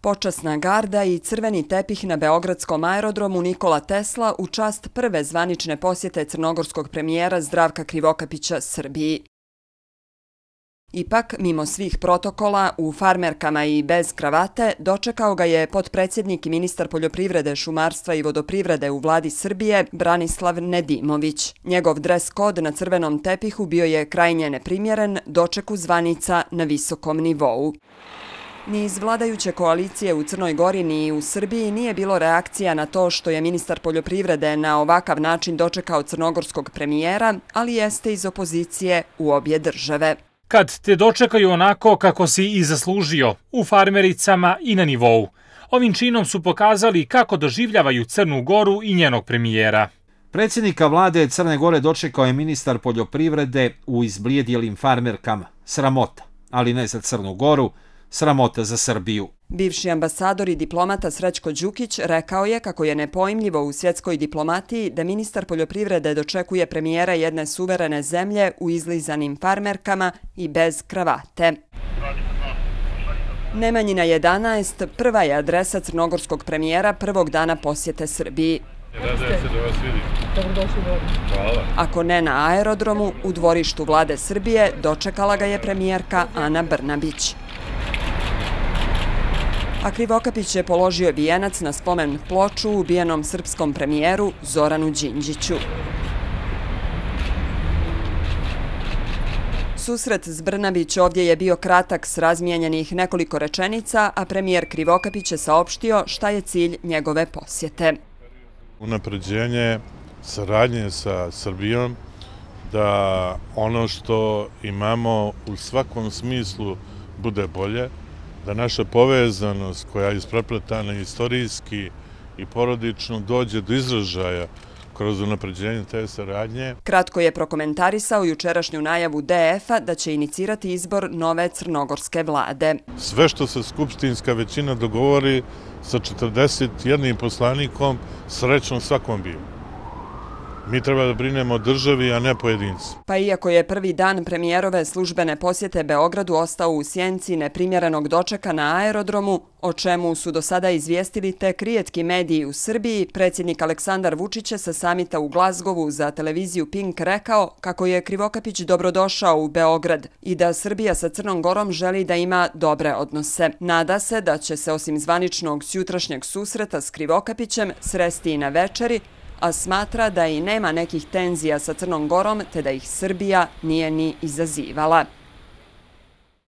Počasna garda i crveni tepih na beogradskom aerodromu Nikola Tesla u čast prve zvanične posjete crnogorskog premijera Zdravka Krivokapića Srbiji. Ipak, mimo svih protokola, u farmerkama i bez kravate, dočekao ga je potpredsjednik i ministar poljoprivrede, šumarstva i vodoprivrede u vladi Srbije, Branislav Nedimović. Njegov dres kod na crvenom tepihu bio je krajnje neprimjeren, dočeku zvanica na visokom nivou. Ni iz vladajuće koalicije u Crnoj Gori ni u Srbiji nije bilo reakcija na to što je ministar poljoprivrede na ovakav način dočekao crnogorskog premijera, ali jeste iz opozicije u obje države. Kad te dočekaju onako kako si i zaslužio, u farmericama i na nivou. Ovim činom su pokazali kako doživljavaju Crnu Goru i njenog premijera. Predsjednika vlade Crne Gore dočekao je ministar poljoprivrede u izblijedjelim farmerkama. Sramota, ali ne za Crnu Goru, sramota za Srbiju. Bivši ambasador i diplomata Srećko Đukić rekao je kako je nepojmljivo u svjetskoj diplomatiji da ministar poljoprivrede dočekuje premijera jedne suverene zemlje u izlizanim farmerkama i bez kravate. Nemanjina 11 prva je adresa crnogorskog premijera prvog dana posjete Srbiji. Ako ne na aerodromu, u dvorištu vlade Srbije dočekala ga je premijerka Ana Brnabić. A Krivokapić je položio vijenac na spomen ploču ubijenom srpskom premijeru Zoranu Đinđiću. Susret s Brnabić ovdje je bio kratak s razmijenjenih nekoliko rečenica, a premijer Krivokapić je saopštio šta je cilj njegove posjete. Unapređenje saradnje sa Srbijom, da ono što imamo u svakom smislu bude bolje, da naša povezanost koja je isprepletana istorijski i porodično dođe do izražaja kroz unapređenje te saradnje. Kratko je prokomentarisao jučerašnju najavu DF-a da će inicirati izbor nove crnogorske vlade. Sve što se skupštinska većina dogovori sa 41 poslanikom, srećno svakom bio. Mi treba da brinemo o državi, a ne pojedinci. Pa iako je prvi dan premijerove službene posjete Beogradu ostao u sjenci neprimjerenog dočeka na aerodromu, o čemu su do sada izvijestili tek rijetki mediji u Srbiji, predsjednik Aleksandar Vučić je sa samita u Glazgovu za televiziju Pink rekao kako je Krivokapić dobrodošao u Beograd i da Srbija sa Crnom Gorom želi da ima dobre odnose. Nada se da će se osim zvaničnog sjutrašnjeg susreta s Krivokapićem sresti i na večeri, a smatra da i nema nekih tenzija sa Crnom Gorom te da ih Srbija nije ni izazivala.